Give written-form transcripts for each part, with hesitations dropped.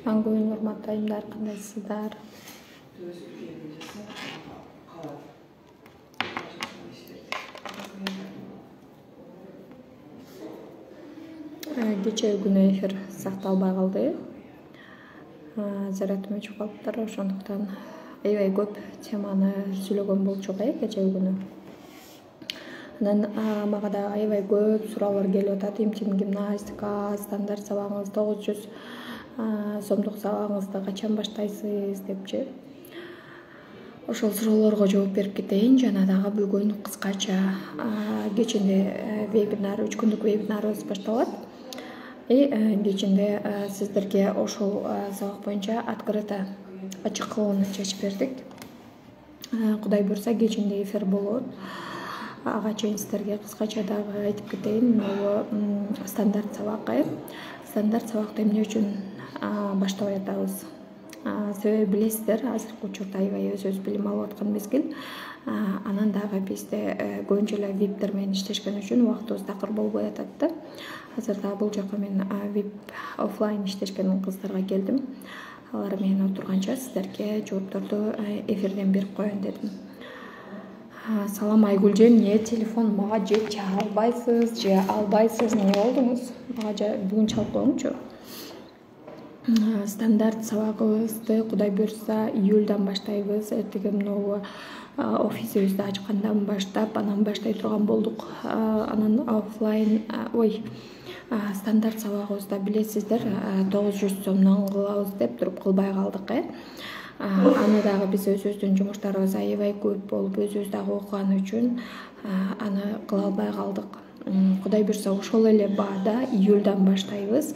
Аңгүн урматтуу айымдар, кандайсыздар? Кечээ күнү эфир сакталбай калды. Зарядым өчүп калыптыр, ошондуктан аябай көп теманы сүйлөгөн болчук кечээ күнү. Анан мага да аябай көп суроолор келип атат. Интим гимнастика, стандарт сабагыңыз 900 сомдук сабагыңызды качан баштайсыз депчи. Ошол суроолорго жооп берип кетейин. Жана дагы бүгүн кыскача кечинде вебинар, 3 күндүк вебинарыбыз башталат. Кечинде сиздерге ошол сабак боюнча открыто ачык кылууну чечип бердик. Кудай буйрса кечинде эфир болот. Ага чейин сиздерге кыскача дагы айтып кетейин. Могу стандарт сабак. Стандарт сабакты эмне үчүн баштабай атабыз? Себеби билесиздер, азыркы учурда аябай өзүбүз билим алып аткан мезгил. Анан дагы бизде көбүнчө эле виптер менен иштешкен үчүн убактыбыз такыр болбой атат да. Азыр дагы бул жака мен вип офлайн иштешкен кыздарга келдим. Алар менен отурганча сиздерге жоопторду эфирден берип коеюн дедим. Салам Айгүлжен, эмне телефон мага же чалбайсыз, же албайсыз, эмне болдуңуз? Мага бүгүн чалып коюңчу. Стандарт сабагыбызды Кудай буйрса июльдан баштайбыз. Эртеге могу офисибизди ачкандан баштап анан баштай турган болдук. Анан офлайн, стандарт сабагыбызда билесиздер 900 сомдон кылабыз деп туруп кылбай калдык. Аны дагы биз өзүбүздүн жумуштарыбыз аябай көп болуп, өзүбүз дагы окуган үчүн аны кыла албай калдык. Кудай буйрса ошол эле баада июльдан баштайбыз.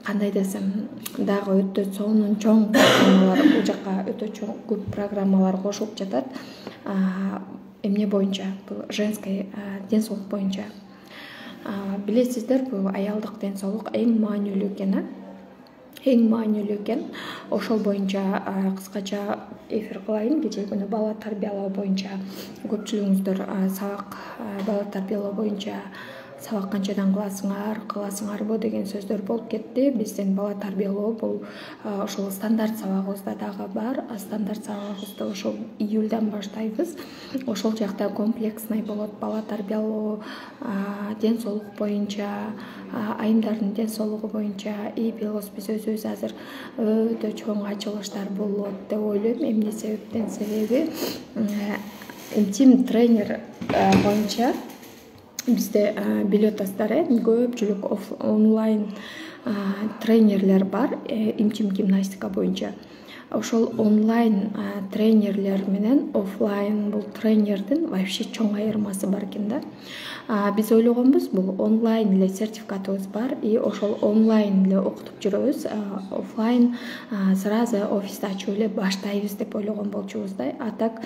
Кандай десем, дагы өтө чоң программалар, бул жака өтө көп программалар кошулуп жатат. Эмне боюнча? Бул женский ден соолук боюнча. Билесиздер, бул аялдык ден соолук эң маанилүү экен. Эң маанилүү экен. Ошол боюнча кыскача эфир кылайын. Кечээ күнү бала тарбиялоо боюнча көпчүлүгүңүздөр сабак бала тарбиялоо боюнча сабак канчадан кыласыңарбы деген сөздөр болуп кетти. Биздин бала тарбиялоо бул ошол стандарт сабагыбызда дагы бар. Стандарт сабагыбызды ошол июльдан баштайбыз. Ошол жакта комплексный болот. Бала тарбиялоо, ден соолук боюнча, айымдардын ден соолугу боюнча билебиз, биз өзүбүз азыр өтө чоң ачылыштар болот деп ойлойм. Эмне себептен? Себеби интим тренер боюнча бизде билип атасыздар, көпчүлүк онлайн тренерлер бар интим гимнастика боюнча. Ошол онлайн тренерлер менен офлайн бул тренердин вообще чоң айырмасы бар экен да. Биз ойлогонбуз, бул онлайн эле сертификатыбыз бар, ошол онлайн эле окутуп жүрөбүз, офлайн сразу офисти ачып эле баштайбыз деп ойлогон болчубуз да. А так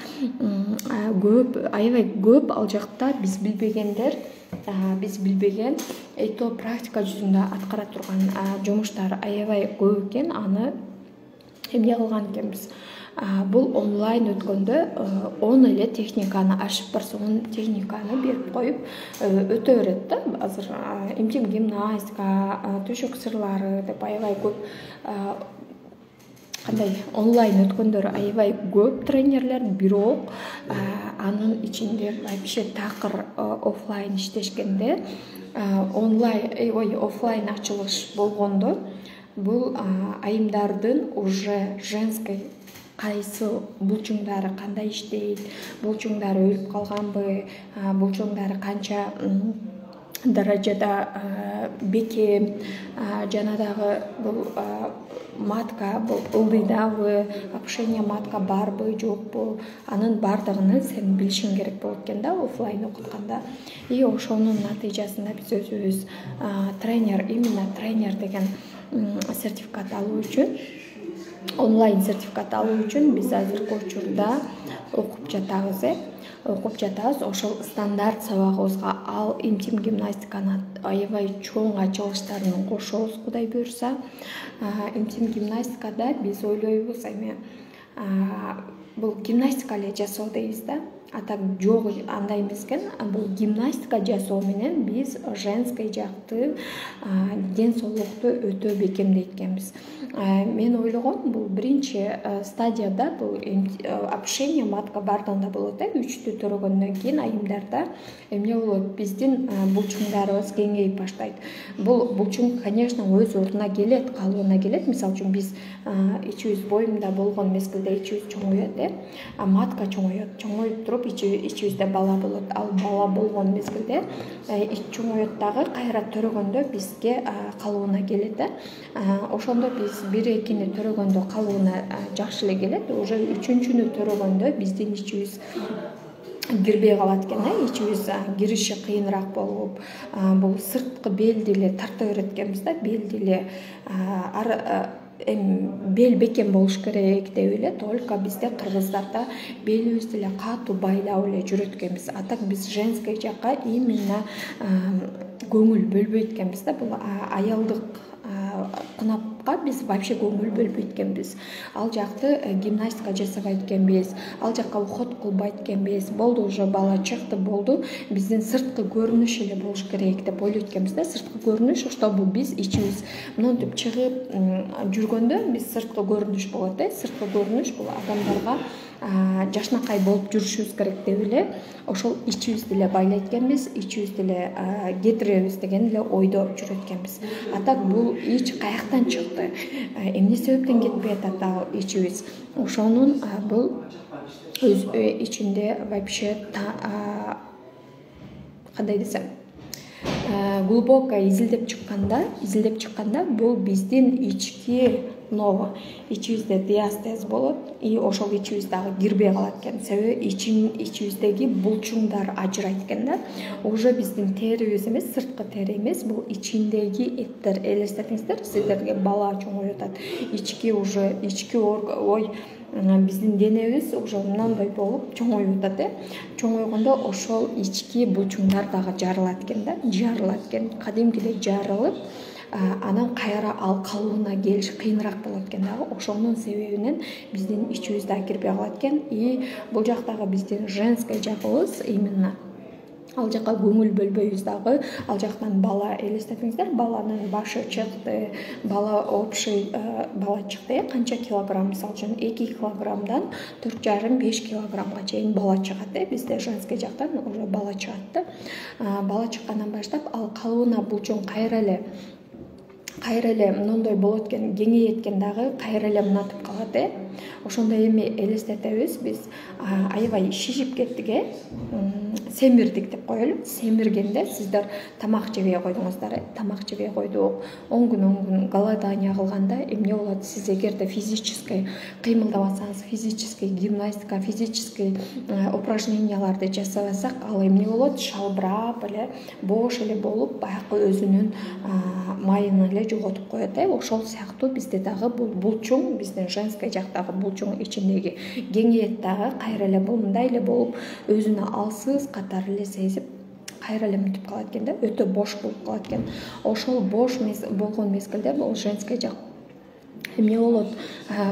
аябай көп ал жакта биз билбегендер, биз билбеген то практика жүзүндө аткара турган жумуштар аябай көп экен. Аны эмне кылган экенбиз? Бул онлайн өткөндө 10 эле техниканы ашып барсаң, техниканы берип коюп өтө берет да. Азыр интим гимнастика, төшөк сырлары деп аябай көп онлайн өткөндөр аябай көп тренерлер, бирок анын ичинде вообще такыр офлайн иштешкенде, офлайн ачылыш болгондо бул айымдардын уже женский кайсы булчуңдары кандай иштейт, булчуңдары өлүп калганбы, булчуңдары канча даражада бекем, жана дагы бул матка бул ылдыйдабы, опушение матка барбы, жокпу, анын бардыгын сен билишиң керек болот экен да офлайн окутканда. Ошонун натыйжасында биз өзүбүз тренер, именно тренер деген сертификат алуу үчүн, онлайн сертификат алуу үчүн биз азыркы учурда окуп жатабыз. Ошол стандарт сабагыбызга ал интим гимнастиканы аябай чоң ачылыштарын кошобуз, Кудай буйрса. Интим гимнастикада биз ойлойбуз, бул гимнастика эле жасоо дейбиз да. а так жок андай эмес экен. Бул гимнастика жасоо менен биз женский жакты ден соолукту өтө бекемдейт экенбиз. Мен ойлогом бул биринчи стадияда бул опушение матка бардыгында болот. 3-тү төрөгөндөн кийин айымдарда эмне болот? Биздин булчуңдарыбыз кеңейип баштайт. Бул булчуң, конечно, өз ордуна келет, калыбына келет. Мисалы үчүн биз ичибиз боюмда болгон мезгилде ичибиз чоңоёт, матка чоңоёт. Чоңоюп туруп ичибизде бала болот. Ал бала болгон мезгилде чоңоёт дагы, кайра төрөгөндө бизге калыбына келет. Ошондо биз 1-2-ни төрөгөндө калыбына жакшы эле келет. Уже 3-чүнү төрөгөндө биздин ичибиз кирбей калат экен. Ичибиз кириши кыйыныраак болуп, бул сырткы белди эле тарта берет экенбиз да. Белди эле бел бекем болуш керек деп эле. Только бизде кыргыздарда белибизди эле катуу байлап эле жүрөт экенбиз. А так биз женский жакка именно көңүл бөлбөйт экенбиз да. Бул аялдык кынапка биз вообще көңүл бөлбөйт экенбиз. Ал жакты гимнастика жасабайт экенбиз, ал жакка уход кылбайт экенбиз. Болду, уже бала чыкты, болду. Биздин сырткы көрүнүш эле болуш керек деп ойлойт экенбиз да. Сырткы көрүнүш, чтобы биз ичибиз монтип чыгып жүргөндө биз сырткы көрүнүш болот. Сырткы көрүнүш бул адамдарга жашнакай болуп жүрүшүбүз керек деп эле ошол ичибизди эле байлайт экенбиз, ичибизди эле кетиребиз деген эле ойдо жүрөт экенбиз. А так бул ич каяктан чыкты, эмне себептен кетпей атат ал ичибиз? Ошонун бул өз ичинде вообще кандай десем, глубоко изилдеп чыкканда бул биздин ички нова, ичибизде диастез болот, и ошол ичибиз дагы кирбей калат экен. Себеби ичибиздеги булчуңдар ажырайт экен да. Уже биздин терибиз эмес, сырткы тери эмес, бул ичиндеги эттер. Элестетиңиздер, сиздерге бала чоңоюп атат. Ички биздин денебиз уже мындай болуп чоңоюп атат. Чоңойгондо ошол ички булчуңдар дагы жарылат экен да. Жарылат экен, кадимкидей жарылып, анан кайра ал калыбына келиш кыйыныраак болот экен дагы. Ошонун себебинен биздин ичибиз дагы кирбей калат экен. И бул жактагы биздин женский жагыбыз именно ал жакка көңүл бөлбөйбүз дагы. Ал жактан бала, элестетиңиздер, баланын башы чыкты, бала общий бала чыкты. Канча килограмм? Мисалы үчүн 2 килограммдан 4,5-5 килограммга чейин бала чыгат. Бизде женский жактан уже бала чыгат. Бала чыккандан баштап ал калыбына булчуң кайра эле мындай болот экен, кеңейет экен дагы, кайра эле мынатып калат. Ошондо эми элестетебиз биз, аябай шишип кеттик, семирдик деп коелу. Семиргенде сиздер тамак жебей койдуңуздар, тамак жебей койдук. 10 күн голодание кылганда эмне болот? Сиз эгерде физический кыймылдабасаңыз, физический гимнастика, физический упражненияларды жасабасак, ал эмне болот? Шалбырап эле, бош эле болуп, баягы өзүнүн майын эле жоготуп коет. Ошол сыяктуу бизде дагы бул булчуң, биздин женский жактагы булчуң ичиндеги кеңейет дагы, кайра эле мындай эле болуп, өзүнө алсыз катары эле сезип, кайра эле мынтип калат экен да, өтө бош болуп калат экен. Ошол бош болгон мезгилде бул женский жак эмне болот?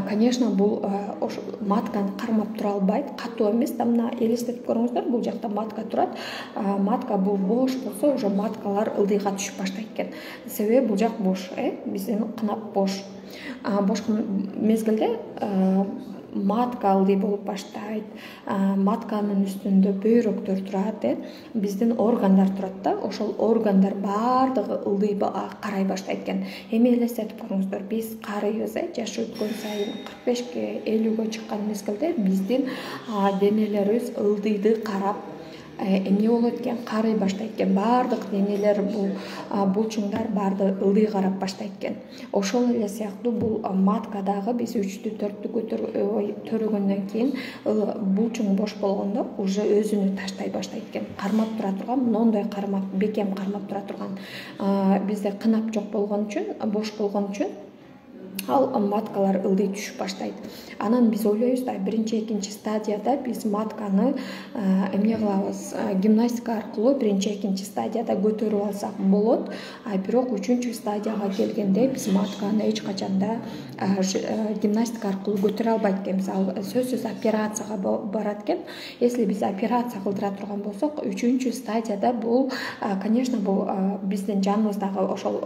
Конечно, бул матканы кармап тура албайт, катуу эмес да. Мына элестетип көрүңүздөр, бул жакта матка турат. Матка бул бош болсо, уже маткалар ылдыйга түшүп баштайт экен. Себеби бул жак бош, биздин кынап бош. Бош мезгилде матка ылдый болуп баштайт. Матканын үстүндө бөйрөктөр турат, биздин органдар турат да. Ошол органдар баардыгы ылдый карай баштайт экен. Эми элестетип көрүңүздөр, биз карыйбыз, жаш өткөн сайын 45-ке, 50-ге чыккан мезгилде биздин денелерибиз ылдыйды карап эмне болот экен? Карый баштайт экен. Баардык денелер, бул булчуңдар баардыгы ылдый карап баштайт экен. Ошол эле сыяктуу бул маткадагы биз 3-тү 4-тү төрөгөндөн кийин булчуң бош болгондо уже өзүнү таштай баштайт экен. Кармап тура турган, мондой бекем кармап тура турган бизде кынап жок болгон үчүн, бош болгон үчүн ал маткалар ылдый түшүп баштайт. Анан биз ойлойбуз да биринчи экинчи стадияда биз матканы эмне кылабыз, гимнастика аркылуу биринчи экинчи стадияда көтөрүп алсак болот. Бирок үчүнчү стадияга келгенде биз матканы эч качанда гимнастика аркылуу көтөрө албайт экенбиз. Ал сөзсүз операцияга барат экен. Если биз операция кылдыра турган болсок, үчүнчү стадияда бул, конечно, бул биздин жаныбыздагы ошол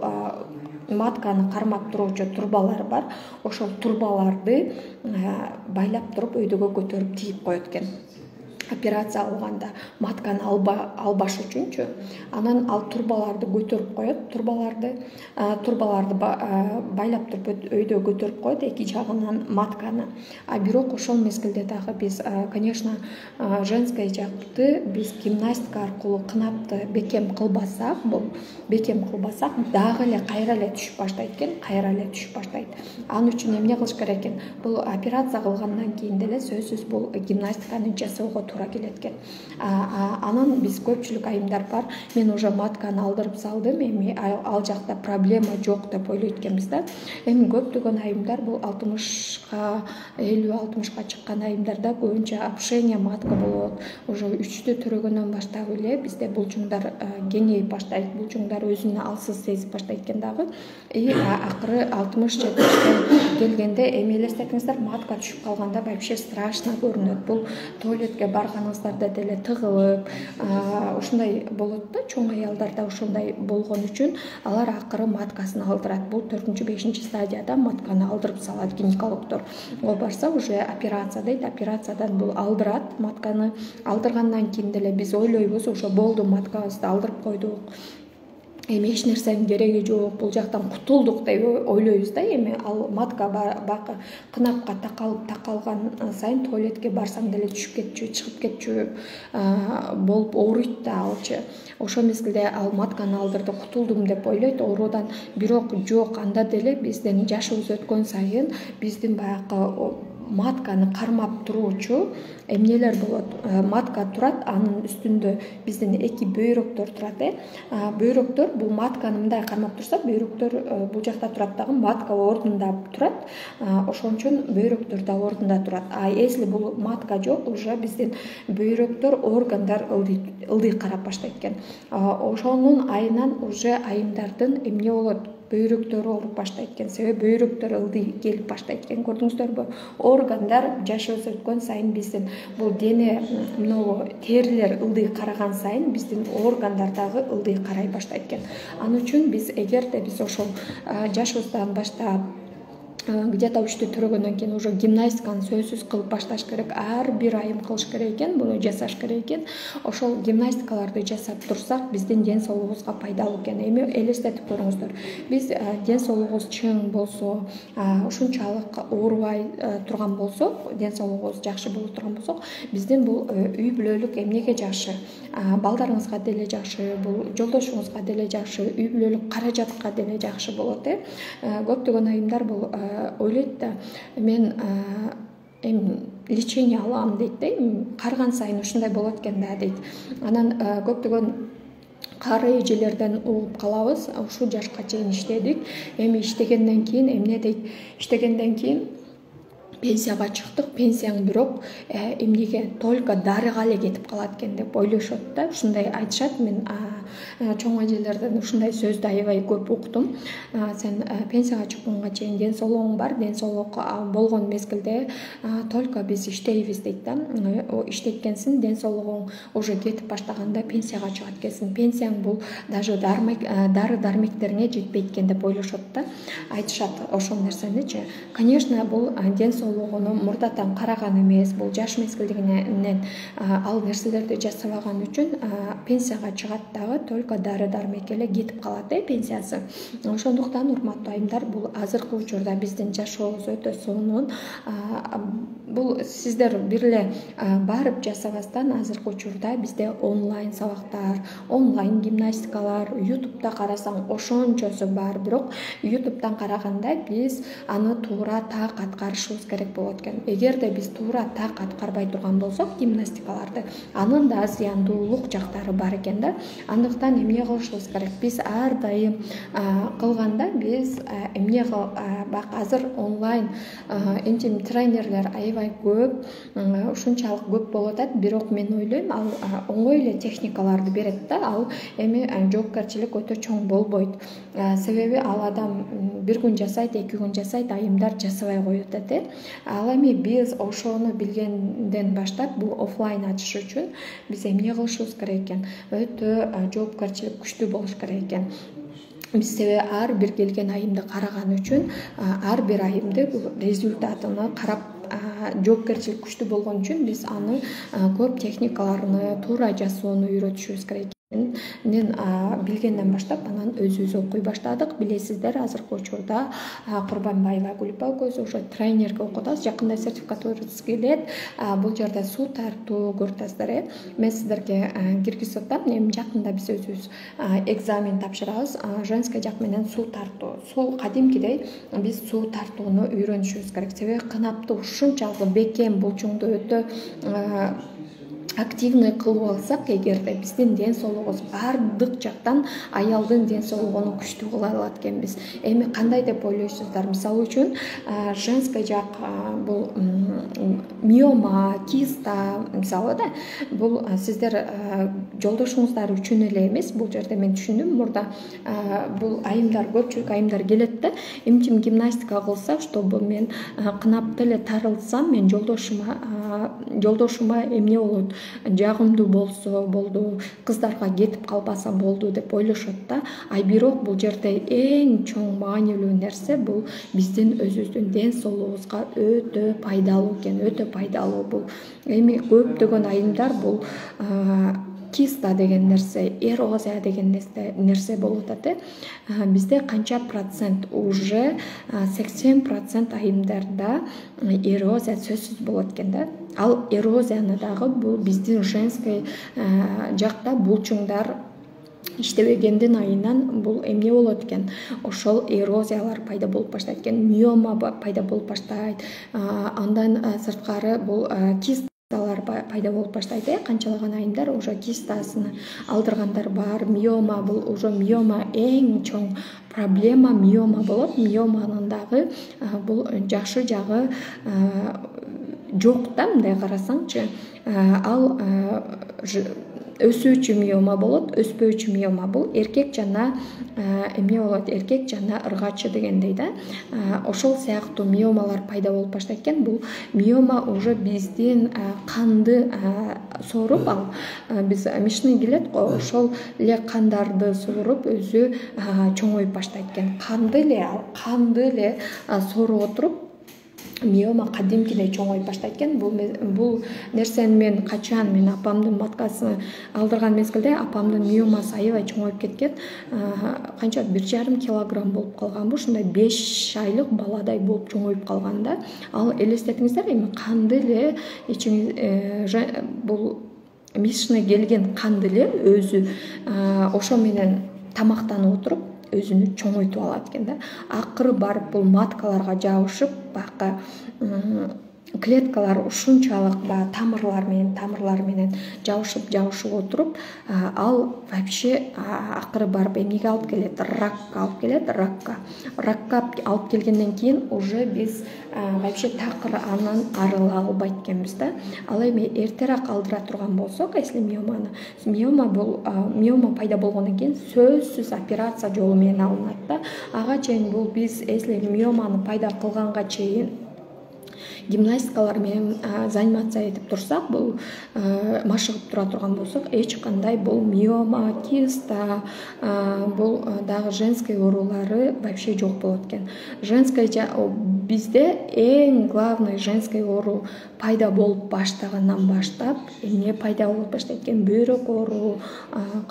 матканы кармап туруучу турбалар бар. Ошол турбаларды байлап туруп өйдөгө көтөрүп тийип коет экен. Операция алганда матканы албаш үчүнчү. Анан ал турбаларды көтөрүп коет. Турбаларды байлап туруп өйдө көтөрүп коет эки жагынан матканы. Бирок ошол мезгилде дагы биз, конечно, женский жакты биз гимнастика аркылуу кынапты бекем кылбасак, дагы эле кайра эле түшүп баштайт экен, Ал үчүн эмне кылыш керек экен? Бул операция кылгандан кийин деле сөзсүз бул гимнастиканы жасоого туура келет экен. Анан биз көпчүлүк айымдар бар. Мен уже матканы алдырып салдым, эми ал жакта проблема жок деп ойлойт экенбиз да. Эми көптөгөн айымдар бул 60ка, 50-60ка чыккан айымдарда көбүнчө опушение матка болот. Уже 3-тү төрөгөндөн баштап эле бизде булчуңдар кеңейип баштайт, булчуңдар өзүн алсыз сезип баштайт экен дагы. Акыры 60-70 келгенде эми элестетиңиздер, матка түшүп калганда вообще страшно көрүнөт. Бул туалетке барганыңыздарда деле тыгылып, ушундай болот да. Чоң аялдарда ошондой болгон үчүн алар акыры маткасын алдырат. Бул 4-5 стадияда матканы алдырып салат гинекологдор. Ол барса уже операция дейт. Операциядан бул алдырат матканы. Алдыргандан кийин деле биз ойлойбуз, уже болду, маткабызды алдырып койдук, эми эч нерсенин кереги жок, бул жактан кутулдук деп ойлойбуз да. Эми ал матка кынапка такалган сайын туалетке барсаң деле түшүп кетчү, чыгып кетчү болуп ооруйт да алчы. Ошол мезгилде ал матканы алдырды, кутулдум деп ойлойт оорудан. Бирок жок, анда деле биздин жашыбыз өткөн сайын биздин баягы матканы кармап туруучу эмнелер болот. Матка турат, анын үстүндө биздин эки бөйрөктөр турат. Бөйрөктөр бул матканы мындай кармап турса, бөйрөктөр бул жакта турат дагы, матка ордунда турат. Ошон үчүн бөйрөктөр да ордунда турат. Если бул матка жок, уже биздин бөйрөктөр, органдар ылдый карап баштайт экен. Ошонун айынан уже айымдардын эмне болот? Бөйрөктөрү ооруп баштайт экен. Себеби бөйрөктөр ылдый келип баштайт экен. Көрдүңүздөрбү? Органдар жашыбыз өткөн сайын биздин бул дене мынабу терилер ылдый караган сайын биздин органдар дагы ылдый карай баштайт экен. Ал үчүн биз эгерде биз ошол жашыбыздан баштап где-то 3-тү төрөгөндөн кийин уже гимнастиканы сөзсүз кылып башташ керек. Ар бир айым кылыш керек экен, буну жасаш керек экен. Ошол гимнастикаларды жасап турсак, биздин ден соолугубузга пайдалуу экен. Эми элестетип көрүңүздөр. Биз ден соолугубуз чың болсо, ушунчалык оорубай турган болсок, ден соолугубуз жакшы боло турган болсок, биздин бул үй бүлөлүк эмнеге жакшы? Балдарыңызга деле жакшы, бул жолдошуңузга деле жакшы, үй бүлөлүк каражатка деле жакшы болот. Көптөгөн айымдар бул ойлойт да, мен эми лечение алам дейт да, карган сайын ушундай болот экен да дейт. Анан көптөгөн кары эжелерден угуп калабыз, ушул жашка чейин иштедик, эми иштегенден кийин эмне дейт? Иштегенден кийин пенсияга чыктык, пенсияң бирок эмнеге только дарыга эле кетип калат экен деп ойлошот да. Ушундай айтышат. Мен чоң эжелерден ушундай сөздү аябай көп уктум. Сен пенсияга чыкканга чейин ден соолугуң бар, ден соолук болгон мезгилде только биз иштейбиз дейт да. Иштеткенсиң, ден соолугуң уже кетип баштаганда пенсияга чыгат экенсиң. Пенсияң бул даже дары дармектерине жетпейт экен деп ойлошот да. Айтышат ошол нерсеничи. Конечно, бул ден соолугуну мурдатан караган эмес, бул жаш мезгилдигинен ал нерселерди жасабаган үчүн пенсияга чыгат дагы, только дары дармек эле кетип калат пенсиясы. Ошондуктан урматтуу айымдар, бул азыркы учурда биздин жашообуз өтө сонун. Бул сиздер бир эле барып жасабастан азыркы учурда бизде онлайн сабактар, онлайн гимнастикалар, YouTube'да карасаң ошончосу бар. Бирок YouTube'дан караганда биз аны туура так аткарышыбыз керек керек болот экен. Эгерде биз туура так аткарбай турган болсок гимнастикаларды, анын да зыяндуулук жактары бар экен да. Андыктан эмне кылышыбыз керек? Биз ар дайым кылганда биз эмне бак азыр онлайн интим тренерлер аябай көп, ушунчалык көп болуп атат. Бирок мен ойлойм, ал оңой эле техникаларды берет да. Ал эми жоопкерчилик өтө чоң болбойт. Себеби ал адам бир күн жасайт, 2 күн жасайт, айымдар жасабай коюп атат. Ал эми биз ошону билгенден баштап бул офлайн ачыш үчүн биз эмне кылышыбыз керек экен? Өтө жоопкерчилик күчтүү болуш керек экен. Биз себеби ар бир келген айымды караган үчүн ар бир айымды результатыны карап жоопкерчилик күчтүү болгон үчүн биз аны көп техникаларны туура жасоону үйрөтүшүбүз керек. Мен билгенден баштап анан өзүбүз окуй баштадык. Билесиздер, азыркы учурда Курбанбаева Гүлпа экөөбүз уже тренерге окуп атабыз. Жакында сертификатурабыз келет. Бул жерде суу тартуу көрүп атасыздар. Мен сиздерге киргизип атам. Эми жакында биз өзүбүз экзамен тапшырабыз. Женский жак менен суу тартуу. Сол кадимкидей биз суу тартууну үйрөнүшүбүз керек. Себеби канапты ушунчалык бекем булчуңду өтө активный кылып алсак, эгерде биздин ден соолугубуз бардык жактан аялдын ден соолугун күчтүү кыла алат экенбиз. Эми кандай деп ойлойсуздар? Мисалы үчүн женский жак бул миома, киста мисалы да. Бул сиздер жолдошуңуздар үчүн эле эмес. Бул жерде мен түшүндүм. Мурда бул айымдар, көпчүлүк айымдар келет да. Интим гимнастика кылса, чтобы мен кынапты эле тарылсам, мен жолдошума эмне болот? Жагымдуу болсо болду, кыздарга кетип калбаса болду деп ойлошот да. Бирок бул жерде эң чоң маанилүү нерсе бул биздин өзүбүздүн ден соолугубузга өтө пайдалуу экен, өтө пайдалуу бул. Эми көптөгөн айымдар бул киста деген нерсе, эрозия деген нерсе болуп атат. Бизде канча процент? Уже 80% айымдарда эрозия сөзсүз болот экен да. Ал эрозияны дагы бул биздин женский жакта булчуңдар иштебегендин айынан бул эмне болот экен? Ошол эрозиялар пайда болуп баштайт экен, миома пайда болуп баштайт. Андан сырткары бул кисталар пайда болуп баштайт. Канчалаган айымдар уже кистасын алдыргандар бар. Миома бул уже миома эң чоң проблема миома болот. Миоманын дагы бул жакшы жагы жок да, мындай карасаңчы. Ал өсүүчү миома болот, өспөөчү миома бул эркек жана эмне болот? Эркек жана ыргачы дегендей да. Ошол сыяктуу миомалар пайда болуп баштайт экен. Бул миома уже биздин канды сооруп, ал биз мышный келет го, ошол эле кандарды сооруп өзү чоңоюп баштайт экен. Канды эле сооруп отуруп миома кадимкидей чоңоюп баштайт экен. Бул нерсени мен качан мен апамдын маткасын алдырган мезгилде апамдын миомасы аябай чоңоюп кеткен. Канча 1,5 килограмм болуп калганбы, ушундай 5 айлык баладай болуп чоңоюп калган да. Ал элестетиңиздер, эми канды эле бул мишный келген канды эле өзү ошо менен тамактанып отуруп өзүнү чоңойтуп алат экен да. Акыры барып бул маткаларга жабышып, бака клеткалар ушунчалык тамырлар менен жабышып отуруп, ал вообще акыры барып эмнеге алып келет? Ракка алып келет, ракка алып келгенден кийин уже биз вообще такыр анан арыла албайт экенбиз да. Ал эми эртерээк алдыра турган болсок, если миома пайда болгондон кийин сөзсүз операция жолу менен алынат да. Ага чейин бул биз если миоманы пайда кылганга чейин гимнастикалар менен заниматься этип турсак, бул машыгып тура турган болсок, эч кандай бул миома, киста, бул дагы женский оорулары вообще жок болот экен. Женский бизде эң главный женский оору пайда болуп баштагандан баштап эмне пайда болуп баштайт экен? Бөйрөк оору,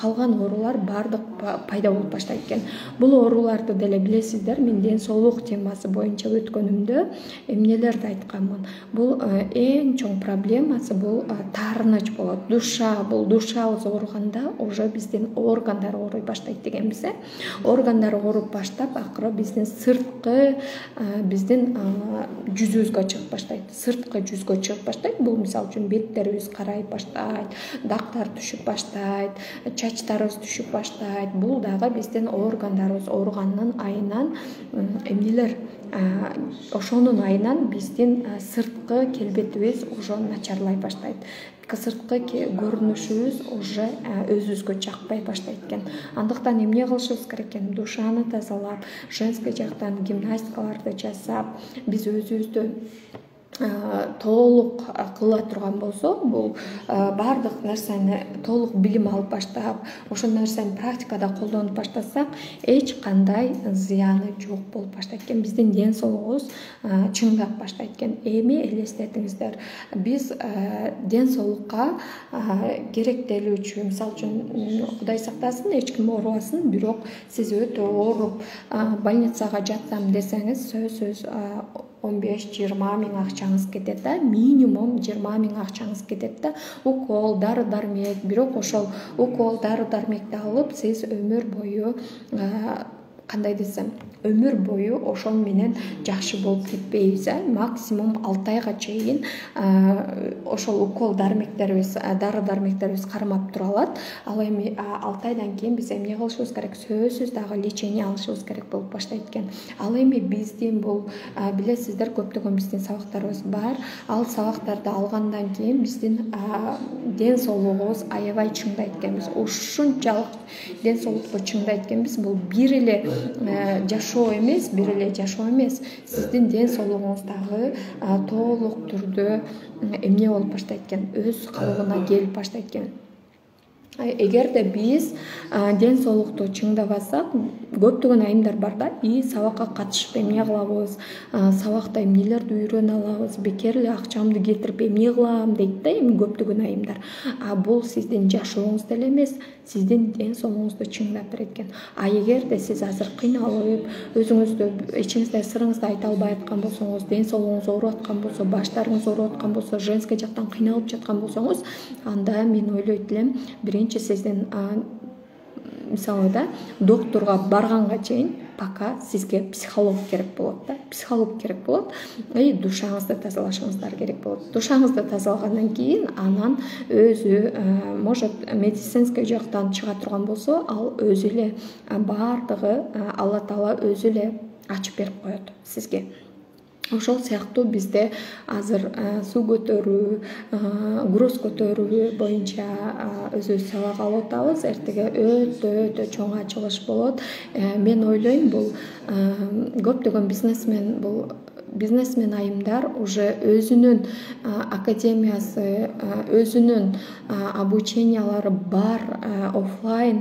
калган оорулар бардык пайда болуп баштайт экен. Бул ооруларды деле билесиздер, мен ден соолук темасы боюнча өткөнүмдө эмнелерди айтканмын. Бул эң чоң проблемасы бул таарыныч болот. Душабыз ооруганда уже биздин органдар ооруй баштайт дегенбиз. Органдар ооруп баштап, акыры биздин сырткы, биздин биздин жүзүбүзгө чыгып баштайт, сырткы жүзгө чыгып баштайт. Бул мисалы үчүн беттерибиз карайып баштайт, дактар түшүп баштайт, чачтарыбыз түшүп баштайт. Бул дагы биздин органдарыбыз ооруганын айынан эмнелер, ошонун айынан биздин сырткы келбетибиз уже начарлай баштайт. Сырткы көрүнүшүбүз уже өзүбүзгө жакпай баштайт экен. Андыктан эмне кылышыбыз керек экен? Душаны тазалап, женский жактан гимнастикаларды жасап, биз өзүбүздү толук кыла турган болсо, бул баардык нерсени толук билим алып баштап, ошол нерсени практикада колдонуп баштасак, эч кандай зыяны жок болуп баштайт экен. Биздин ден соолугубуз чыңдап баштайт экен. Эми элестетиңиздер, биз ден соолукка керектелүүчү, мисалы үчүн Кудай сактасын, эч ким оорубасын, бирок сиз өтө ооруп больницага жатсам десеңиз, сөзсүз 15-20 миң акчаңыз кетет да, минимум 20 миң акчаңыз кетет да. Укол, дары дармек, бирок ошол укол, дары дармекти алып, сиз өмүр бою кандай десем, өмүр бою ошол менен жакшы болуп кетпейбиз. Максимум 6 айга чейин ошол укол дармектерибиз, дары дармектерибиз кармап тура алат. Ал эми 6 айдан кийин биз эмне кылышыбыз керек? Сөзсүз дагы лечение алышыбыз керек болуп баштайт экен. Ал эми биздин бул билесиздер, көптөгөн биздин сабактарыбыз бар. Ал сабактарды алгандан кийин биздин ден соолугубуз аябай чыңдайт экенбиз. Ушунчалык ден соолукка чыңдайт экенбиз. Бул бир эле жашоо эмес, сиздин ден соолугуңуз дагы толук түрдө эмне болуп баштайт экен, өз калыбына келип баштайт экен. Эгерде биз ден соолукту чыңдабасак, көптөгөн айымдар бар да, сабакка катышып эмне кылабыз, сабакта эмнелерди үйрөнө алабыз, бекер эле акчамды кетирип эмне кылам дейт да, эми көптөгөн айымдар. Бул сиздин жашооңуз деле эмес, сиздин ден соолугуңузду чыңдап берет экен. Эгерде сиз азыр кыйналып, өзүңүздү ичиңизде сырыңызды айта албай аткан болсоңуз, ден соолугуңуз ооруп аткан болсо, баштарыңыз ооруп аткан болсо, женский жактан кыйналып жаткан болсоңуз, анда мен ойлойт элем, сиздин мисалы да, доктурга барганга чейин пока сизге психолог керек болот да, психолог керек болот. Душаңызды тазалашыңыздар керек болот. Душаңызды тазалагандан кийин анан өзү может медицинский жактан чыга турган болсо, ал өзү эле баардыгы Алла Таала өзү эле ачып берип коет сизге. Ошол сыяктуу бизде азыр суу көтөрүү, груз көтөрүү боюнча өзүбүз сабак алып атабыз. Эртеге өтө чоң ачылыш болот. Мен ойлойм, бул көптөгөн бизнесмен айымдар уже өзүнүн академиясы, өзүнүн обучениялары бар, офлайн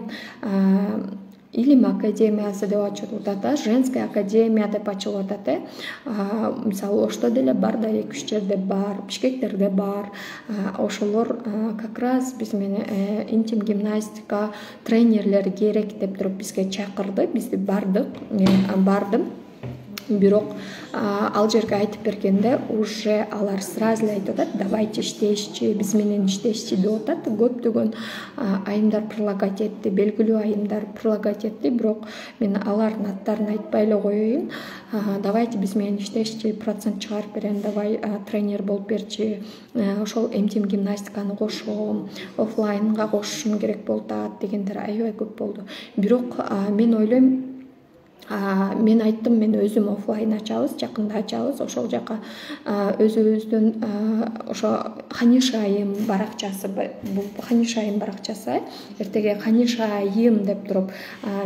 илим академиясы деп ачылып атат, женская академия деп ачылып атат. Мисалы Ошто деле бар да, 2-3 жерде бар, Бишкектерде бар. Ошолор как раз биз менен интим гимнастика тренерлери керек деп туруп бизге чакырды. Биз бардык, мен бардым. Бирок ал жерге айтып бергенде уже алар сразу айтып атат, давайте иштешичи, биз менен иштешичи деп атат. Көптөгөн айымдар прилагать этти, белгилүү айымдар прилагать этти, бирок мен алардын аттарын айтпай эле коеюн. Давайте биз менен иштешичи, процент чыгарып берем, давай тренер болуп берчи, ошол интим гимнастиканы кошом, офлайнга кошушум керек болуп атат дегендер аябай көп болду. Бирок мен ойлойм, мен айттым, мен өзүм офлайн ачабыз, жакында ачабыз. Ошол жака өзүбүздүн ошо Ханишайым баракчасы, бул Ханишайым баракчасы. Эртеге Ханишайым деп туруп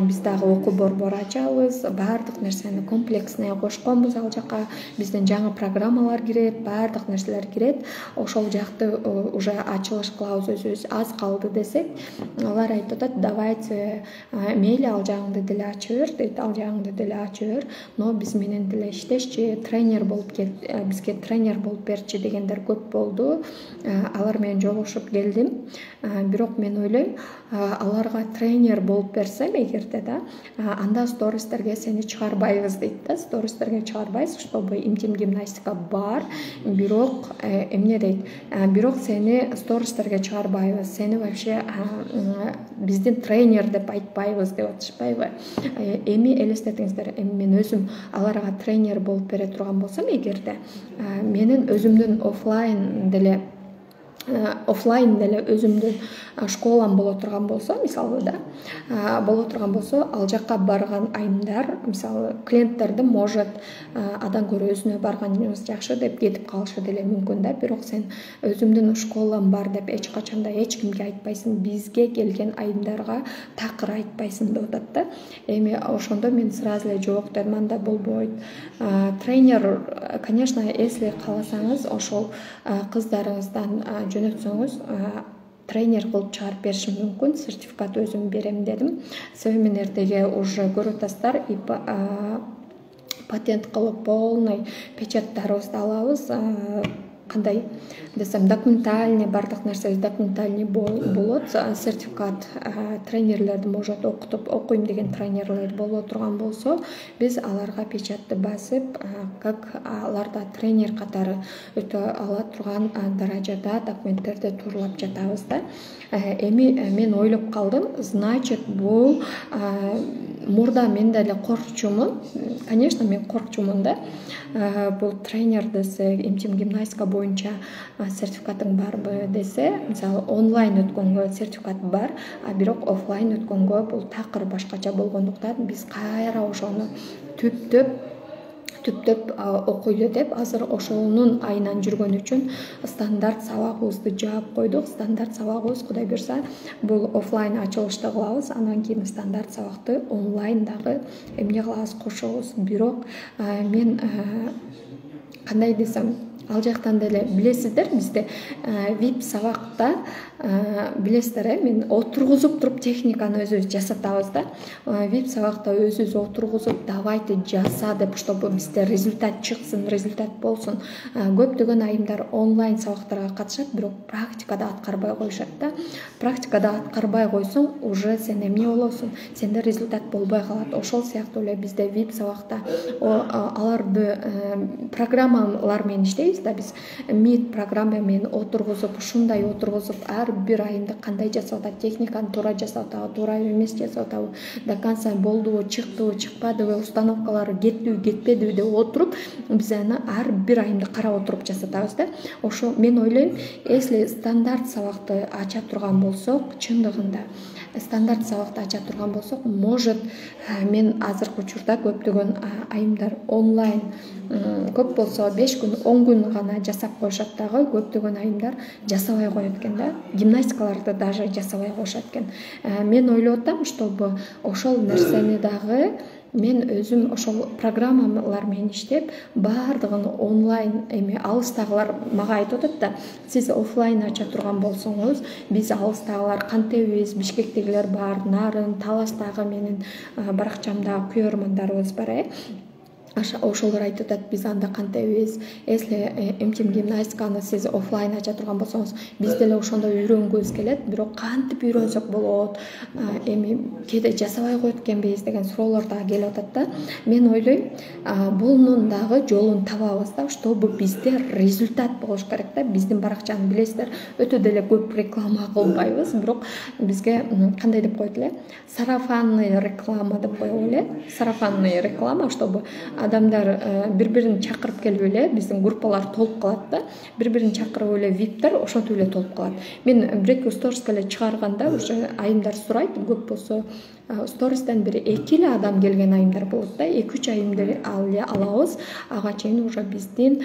биз дагы окуу борбор ачабыз. Баардык нерсени комплексный кошконбуз ал жака. Биздин жаңы программалар кирет, баардык нерселер кирет. Ошол жакты уже ачылыш кылабыз өзүбүз. Аз калды десек, алар айтып атат, давайте мейли ал жагыңды деле ачып бер дейт, ал жагыңды деле ачып бер, но биз менен деле иштешчи, тренер болуп кел, бизге тренер болуп берчи дегендер көп болду. Алар менен жолугушуп келдим. Бирок мен ойлойм, аларга тренер болуп берсем эгерде да, анда стористерге сени чыгарбайбыз дейт да, стористерге чыгарбайбыз, чтобы интим гимнастика бар, бирок эмне дейт, бирок сени стористерге чыгарбайбыз, сени вообще биздин тренер деп айтпайбыз деп атышпайбы. Эми элестетиңиздер, эми мен өзүм аларга тренер болуп бере турган болсом, эгерде менин өзүмдүн офлайн деле өзүмдүн школам боло турган болсо, мисалы боло турган болсо, ал жакка барган айымдар, мисалы клиенттерди может адан көрө өзүнө барганыңыз жакшы деп кетип калышы деле мүмкүн да. Бирок сен өзүмдүн школам бар деп эч качанда эч кимге айтпайсың, бизге келген айымдарга такыр айтпайсың деп атат да. Эми ошондо мен сразу эле жок дедим, анда болбойт. Тренер, конечно, если кааласаңыз ошол кыздарыңыздан жөнөтсөңүз тренер кылып чыгарып беришим мүмкүн, сертификат өзүм берем дедим. Себеби мен эртеге уже көрүп атасыздар, патент кылып полный печаттарыбызды алабыз. Кандай десем, документальный, бардык нерсебиз документальный болот. Сертификат тренерлерди может окуйм деген тренерлер боло турган болсо, биз аларга печатты басып, как аларда тренер катары өтө ала турган даражада документтерди тууралап жатабыз да. Эми мен ойлоп калдым, значит, бул мурда мен деле коркчумун. Конечно, мен коркчумун да. Бул тренер десе, МТМ гимнастика боюнча сертификатың барбы десе, мисалы онлайн өткөнгө сертификат бар, бирок офлайн өткөнгө бул такыр башкача болгондуктан биз кайра ошону түптөп окуйлу деп азыр ошонун айынан жүргөн үчүн стандарт сабагыбызды жаап койдук. Стандарт сабагыбыз Кудай буйрса бул офлайн ачылышты кылабыз, андан кийин стандарт сабакты онлайн дагы эмне кылабыз, кошобуз. Бирок мен кандай десем, ал жактан деле билесиздер, бизде VIP сабакта билесиздер, мен отургузуп туруп техниканы өзүбүз жасатабыз да. VIP сабакта өзүбүз отургузуп, давайте жаса деп, чтобы бизде результат чыксын, результат болсун. Көптөгөн айымдар онлайн сабактарга катышат, бирок практикада аткарбай коюшат да. Практикада аткарбай койсоң, уже сен эмне болосуң, сенде результат болбой калат. Ошол сыяктуу эле бизде VIP сабакта аларды программалар менен иштейбиз да. Биз MIT программа менен отургузуп, ушундай отургузуп, ар бир айымды кандай жасап атат, техниканы туура жасап атабы, туура эмес жасап атабы, до конца болдубу, чыктыбы, чыкпадыбы, установкалары кеттиби, кетпедиби деп отуруп, биз аны ар бир айымды карап отуруп жасатабыз да. Ошо мен ойлойм, если стандарт сабакты ача турган болсок, чындыгында стандарт сабакты ача турган болсок, может, мен азыркы учурда көптөгөн айымдар онлайн көп болсо 5 күн, 10 күн гана жасап коюшат дагы, көптөгөн айымдар жасабай коет экен да. Гимнастикаларды даже жасабай коюшат экен. Мен ойлоп атам, чтобы ошол нерсени дагы мен өзүм ошол программалар менен иштеп, баардыгын онлайн эми алыстагылар мага айтып атат да, сиз офлайн ача турган болсоңуз, биз алыстагылар кантебиз, Бишкектегилер бар, Нарын, Таластагы менин баракчамдагы күйөрмандарыбыз бар. Ошолор айтып атат, биз анда кантебиз, если МТМ гимнастиканы сиз офлайн ача турган болсоңуз, биз деле ошондой үйрөнгүбүз келет, бирок кантип үйрөнсөк болот, эми кээде жасабай коет экенбиз деген суроолор дагы келип атат да. Мен ойлойм, бунун дагы жолун табабыз да, чтобы бизде результат болуш керек да. Биздин баракчаны билесиздер, өтө деле көп реклама кылбайбыз, бирок бизге кандай деп коет эле, сарафанный реклама деп коебу эле. Сарафанный реклама, чтобы адамдар бири-бирин чакырып келип эле, биздин группалар толуп калат да. Бири-бирин чакырып эле виптер ошентип эле толуп калат. Мен бир-эки сториске эле чыгарганда уже айымдар сурайт, көп болсо стористен бир 2 эле адам келген айымдар болот да. 2-3 айымды алабыз, ага чейин уже биздин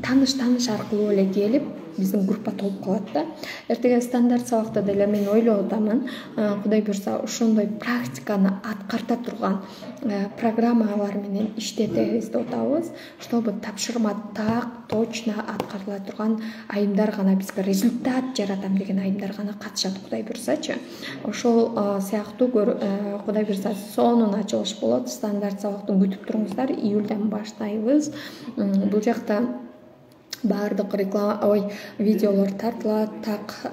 таныш аркылуу эле келип, биздин группа толуп калат да. Эртеге стандарт сабакта деле мен ойлоп атамын, Кудай буйрса ошондой практиканы аткарта турган программалар менен иштетебиз деп атабыз, чтобы тапшырма так точно аткарыла турган айымдар гана, бизге результат жаратам деген айымдар гана катышат, Кудай буйрсачы. Ошол сыяктуу Кудай буйрса сонун ачылыш болот. Стандарт сабакты күтүп туруңуздар, июлдан баштайбыз. Бул жакта баардык видеолор тартылат, так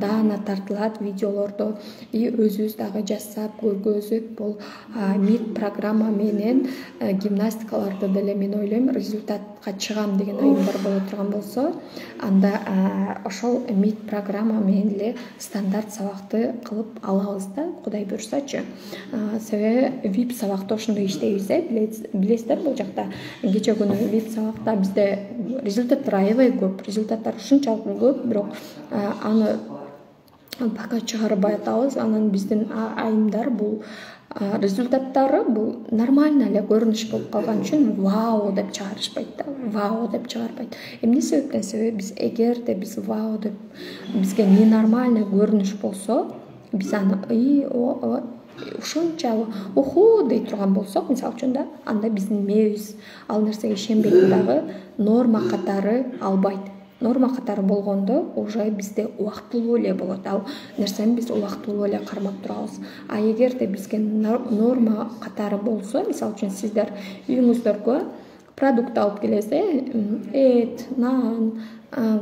даана тартылат видеолорду, и өзүбүз дагы жасап көргөзүп, бул МИД программа менен гимнастикаларды деле мен ойлойм результатка чыгам деген айымдар боло турган болсо, анда ошол МИД программа менен эле стандарт сабакты кылып алабыз да, Кудай буюрсачы. Себеби VIP сабакта ошондой иштейбиз, билесиздер, бул жакта кече күнү VIP сабакта бизде результаттар аябай көп, результаттар ушунчалык көп, бирок аны пока чыгарбай атабыз. Анан биздин айымдар бул результаттары бул нормально эле көрүнүш болуп калган үчүн вау деп чыгарышпайт да, вау деп чыгарбайт. Эмне себептен? Себеби биз эгерде биз вау деп бизге ненормально көрүнүш болсо, биз аны ушунчалык уху дей турган болсок, мисалы үчүн да, анда биздин мээбиз ал нерсеге ишенбейт дагы, норма катары албайт. Норма катары болгондо уже бизде убактылуу эле болот. Ал нерсени биз убактылуу эле кармап турабыз. А эгерде бизге норма катары болсо, мисалы үчүн сиздер үйүңүздөргө продукт алып келесиз, эт, нан,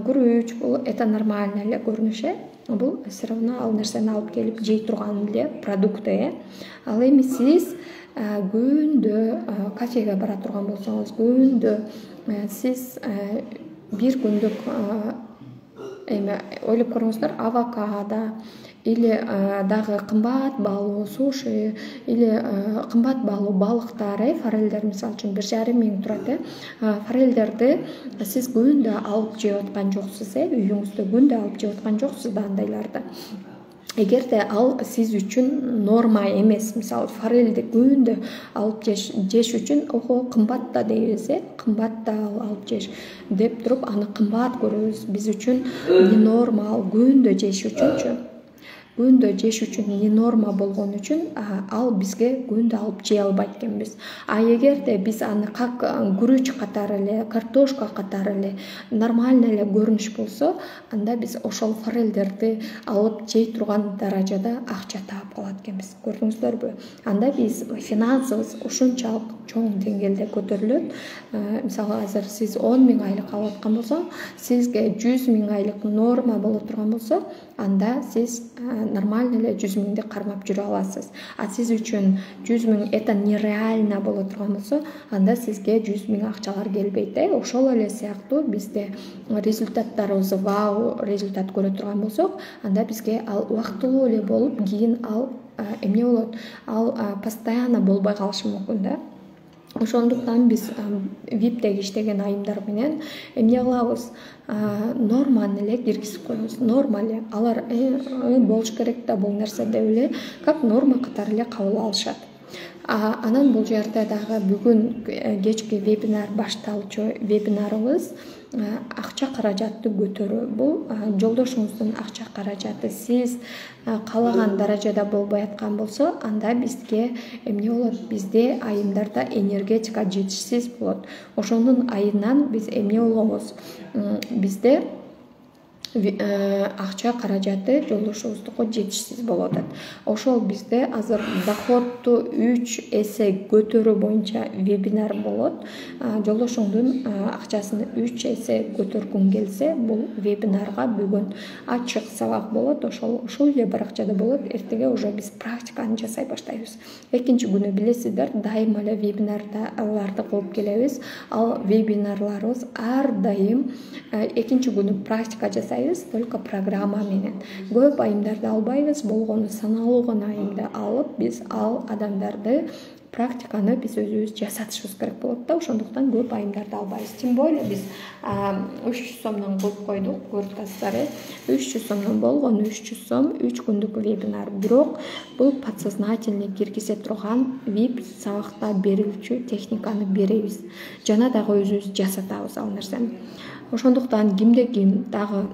күрүч, бул это нормально эле көрүнүш, бул все равно ал нерсени алып келип жей турган эле продукты. Ал эми сиз күндө кафеге бара турган болсоңуз, күндө сиз бир күндүк ойлоп көрүңүздөр, авокадо или дагы кымбат баалуу суши или кымбат баалуу балыктар, форелдер мисалы үчүн 1,5 миң турат. Форелдерди сиз күндө алып жеп аткан жоксуз, үйүңүздө күндө алып жеп аткан жоксуз да андайларды. Эгерде ал сиз үчүн норма эмес, мисалы форелди күндө алып жеш үчүн кымбат да дейбиз, кымбат да алып жеш деп туруп аны кымбат көрөбүз. Биз үчүн не норма ал күндө жеш үчүнчү. Күндө жеш үчүн не норма болгон үчүн ал бизге күндө алып жей албайт экенбиз. А эгерде биз аны как күрүч катары эле, картошка катары эле нормально эле көрүнүш болсо, анда биз ошол форелдерди алып жей турган даражада акча таап калат экенбиз. Көрдүңүздөрбү? Анда биз финансыбыз ушунчалык чоң деңгээлде көтөрүлөт. Мисалы азыр сиз 10 миң айлык алып аткан болсо, сизге 100 миң айлык норма боло турган болсо, анда сиз нормально эле 100 миңди кармап жүрө аласыз. А сиз үчүн 100 миң это нереально боло турган болсо, анда сизге 100 миң акчалар келбейт. Ошол эле сыяктуу бизде результаттарыбыз вау результат көрө турган болсок, анда бизге ал убактылуу эле болуп, кийин ал эмне болот? Ал постоянно болбой калышы мүмкүн да. Ошондуктан биз VIPтеги иштеген айымдар менен эмне кылабыз? Норманы эле киргизип коебуз. Норма эле. Алар болуш керек да бул нерсе деп эле, как норма катары эле кабыл алышат. Анан бул жерде дагы бүгүн кечки вебинар башталчу вебинарыбыз акча каражатты көтөрүү. Бул жолдошуңуздун акча каражаты сиз каалаган даражада болбой аткан болсо, анда бизге эмне болот? Бизде айымдарда энергетика жетишсиз болот. Ошонун айынан биз эмне болобуз? Бизде акча каражаты жолдошубуздуку жетишсиз болуп атат. Ошол бизде азыр доходту 3 эсе көтөрүү боюнча вебинар болот. Жолдошуңдун акчасын 3 эсе көтөргүң келсе, бул вебинарга бүгүн ачык сабак болот. Ушул эле баракчада болот. Эртеге уже биз практиканы жасай баштайбыз. Экинчи күнү билесиздер, дайыма эле вебинарларды кылып келебиз. Ал вебинарларыбыз ар дайым экинчи күнү практика жасайбыз, только программа менен. Көп айымдарды албайбыз, болгону саналуу гана айымды алып, биз ал адамдарды практиканы биз өзүбүз жасатышыбыз керек болот да. Ошондуктан көп айымдарды албайбыз. Тем более биз 300 сомдон кылып койдук, көрүп атасыздар. 300 сомдон болгону 300 сом 3 күндүк вебинар. Бирок бул подсознательный киргизе турган VIP сабакта берилчү техниканы беребиз. Жана дагы өзүбүз жасатабыз ал нерсени. Ошондуктан кимде ким дагы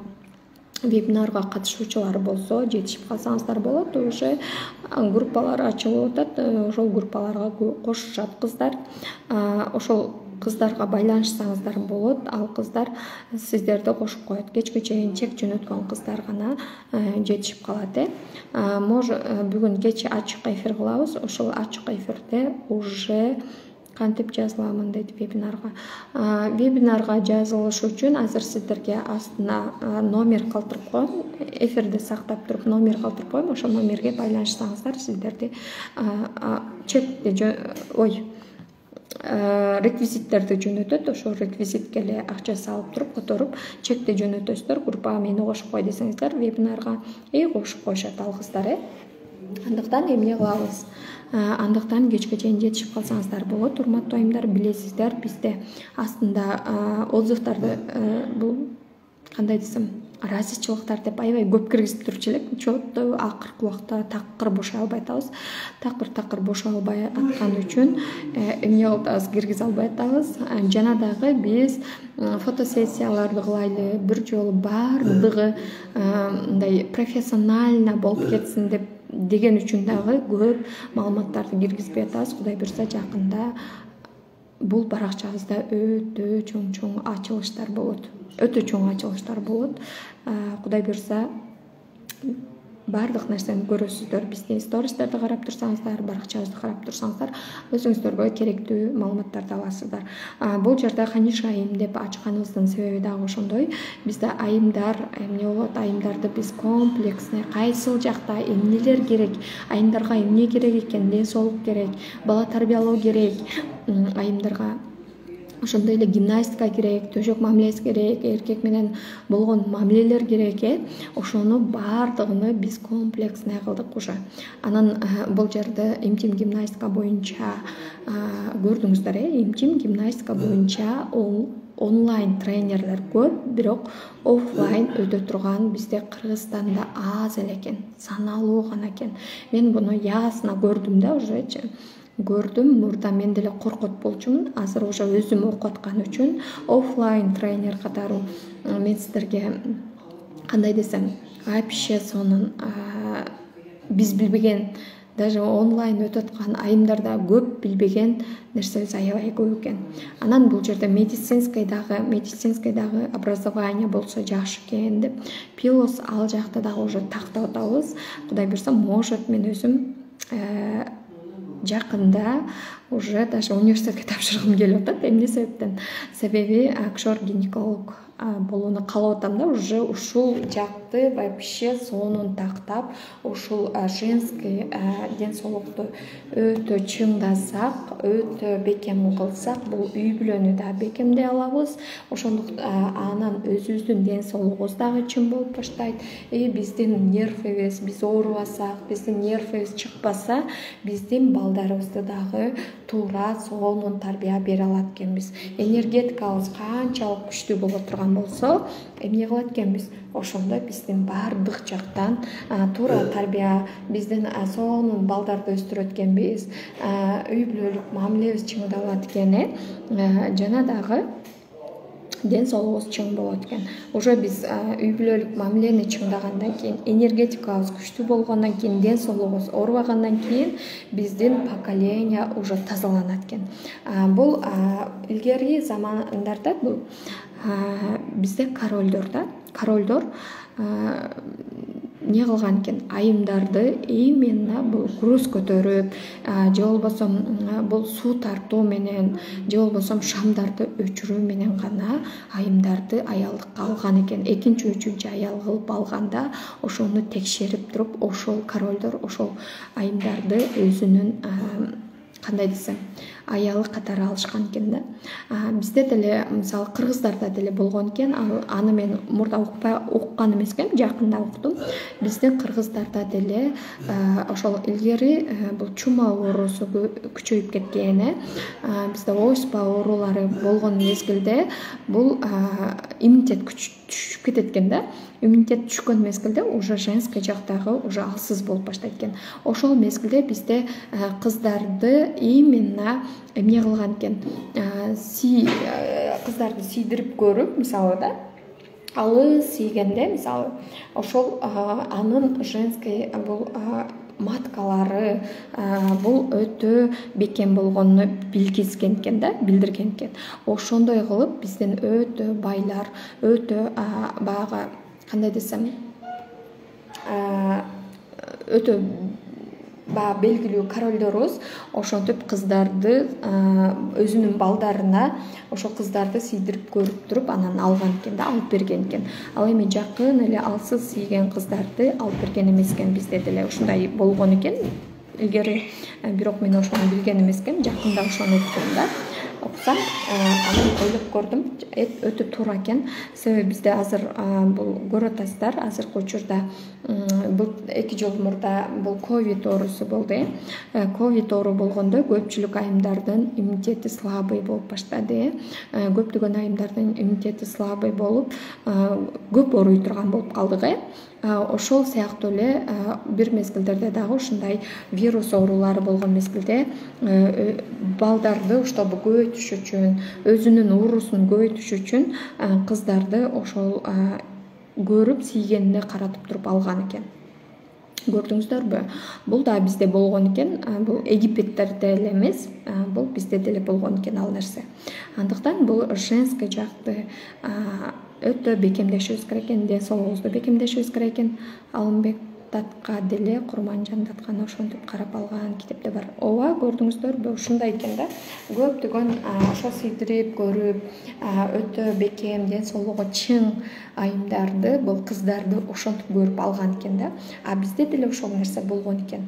вебинарга катышуучулар болсо, жетишип калсаңыздар болот. Уже группалар ачылып атат. Ошол группаларга кошушат кыздар. Ошол кыздарга байланышсаңыздар болот. Ал кыздар сиздерди кошуп коет. Кечке чейин чек жөнөткөн кыздар гана жетишип калат. Может бүгүн кече ачык эфир кылабыз. Ошол ачык эфирде уже кантип жазыламын дейт вебинарга. Вебинарга жазылыш үчүн азыр сиздерге астына номер калтырып коем. Эфирди сактап туруп номер калтырып коем. Ошол номерге байланышсаңыздар сиздерди реквизиттерди жөнөтөт. Ошол реквизитке эле акча салып туруп которуп чекти жөнөтөсүздөр. Группага мени кошуп кой десеңиздер вебинарга кошуп коюшат ал кыздар. Андыктан эмне кылабыз? Андыктан кечке чейин жетишип калсаңыздар болот. Урматтуу айымдар, билесиздер, бизде астында отзывдарды бул кандай десем, разычылыктар деп аябай көп киргизип турчу элек. Чоотто акыркы убакта такыр бошой албай атабыз. Такыр бошой албай аткан үчүн эмне кылып атабыз? Киргизе албай атабыз. Жана дагы биз фотосессияларды кылайлы, бир жолу баардыгы мындай профессионально болуп кетсин деген үчүн дагы көп маалыматтарды киргизбей атабыз. Кудай буйрса жакында бул баракчабызда өтө чоң ачылыштар болот. Кудай буйрса баардык нерсени көрөсүздөр. Биздин стористерди карап турсаңыздар, баракчабызды карап турсаңыздар, өзүңүздөргө керектүү маалыматтарды аласыздар. Бул жерде Ханиша айым деп ачканыбыздын себеби дагы ошондой. Бизде айымдар эмне болот? Айымдарды биз комплексный, кайсыл жакта эмнелер керек, айымдарга эмне керек экен, ден соолук керек, бала тарбиялоо керек, айымдарга ошондой эле гимнастика керек, төшөк мамилеси керек, эркек менен болгон мамилелер керек. Ошону баардыгын биз комплексный кылдык уже. Анан бул жерде имтим гимнастика боюнча көрдүңүздөр, имтим гимнастика боюнча онлайн тренерлер көп, бирок офлайн өтө турган бизде Кыргызстанда аз эле экен, саналуу гана экен. Мен буну ясына көрдүм да, уже көрдүм. Мурда мен деле коркот болчумун. Азыр уже өзүм окуп аткан үчүн офлайн тренер катары мен сиздерге кандай десем, вообще сонун биз билбеген, даже онлайн өтүп аткан айымдарда көп билбеген нерсебиз аябай көп экен. Анан бул жерде медицинский дагы образование болсо жакшы экен деп пилос ал жакта дагы уже тактап атабыз. Кудай буйрса, может мен өзүм жакында уже даже университетке тапшыргым келип атат. Эмне себептен? Себеби акушер-гинеколог болууну каалап атам да. Уже ушул жакты вообще сонун тактап, ушул женский ден соолукту өтө чыңдасак, өтө бекем кылсак, бул үй бүлөнү да бекемдей алабыз. Ошондуктан анан өзүбүздүн ден соолугубуз дагы чың болуп баштайт. Биздин нервибиз, биз оорубасак, биздин нервибиз чыкпаса, биздин балдарыбызды дагы туура сонун тарбия бере алат экенбиз. Энергетикабыз канчалык күчтүү боло турган болсо, эмне кылат экенбиз? Ошондо биздин баардык жактан туура тарбия, биздин сонун балдарды өстүрөт экенбиз, үй бүлөлүк мамилебиз чыңдалат экен, жана дагы ден соолугубуз чың болот экен. Уже биз үй бүлөлүк мамилени чыңдагандан кийин, энергетикабыз күчтүү болгондон кийин, ден соолугубуз оорубагандан кийин биздин поколение уже тазаланат экен. Бул илгерки замандарда бул бизде королдор эмне кылган экен? Айымдарды именно бул груз көтөрүп, же болбосо бул суу тартуу менен, же болбосо шамдарды өчүрүү менен гана айымдарды аялдыкка алган экен. Экинчи, үчүнчү аял кылып алганда ошону текшерип туруп, ошол королдор ошол айымдарды өзүнүн кандай десем, аялы катары алышкан экен да. Бизде деле мисалы кыргыздарда деле болгон экен. Аны мен мурда уккан эмес экен, жакында уктум. Биздин кыргыздарда деле ошол илгери бул чума оорусу күчөйүп кеткен. Бизде оспа оорулары болгон мезгилде бул иммунитет түшүп кетет экен да. Иммунитет түшкөн мезгилде уже женский жактагы уже алсыз болуп баштайт экен. Ошол мезгилде бизде кыздарды именно эмне кылган экен? Кыздарды тийдирип көрүп, мисалы да, алыс тийгенде, мисалы, ошол анын женский бул маткалары бул өтө бекем болгонун билгизген экен да, билдирген экен. Ошондой кылып биздин өтө байлар, өтө баягы кандай десем, өтө баягы белгилүү королдорубуз ошентип кыздарды өзүнүн балдарына ошол кыздарды сыйдырып көрүп туруп анан алган экен да, алып берген экен. Ал эми жакын эле алсыз сүйгөн кыздарды алып берген эмес экен. Бизде деле ушундай болгон экен илгери, бирок мен ошону билген эмес экен, жакында ошону уктум да. Окусам, анан ойлоп көрдүм, өтө туура экен. Себеби бизде азыр бул көрөтасыздар, азыркы учурда бул 2 жыл мурда бул ковид оорусу болду. Ковид оору болгондо көпчүлүк айымдардын иммунитети слабый болуп баштады. Көптөгөн айымдардын иммунитети слабый болуп, көп ооруй турган болуп калдык. Ошол сыяктуу эле бир мезгилдерде дагы ушундай вирус оорулары болгон мезгилде балдарды уштабы көбөйтүш үчүн, өзүнүн уурусун көбөйтүш үчүн кыздарды ошол көрүп сийгенине каратып туруп алган экен. Көрдүңүздөрбү? Бул да бизде болгон экен. Бул Египеттерде эле эмес, бул бизде деле болгон экен ал нерсе. Андыктан бул женский жакты өтө бекемдешибиз керек экен, ден соолугубузду бекемдешибиз керек экен. Алымбек Татка деле Курманжан Татканы ошентип карап алган китепте бар. Ооба, көрдүңүздөрбү? Ушундай экен да. Көптөгөн ошо сыйдырып көрүп, өтө бекем, ден соолугу чың айымдарды, бул кыздарды ошентип көрүп алган экен да. Бизде деле ошол нерсе болгон экен.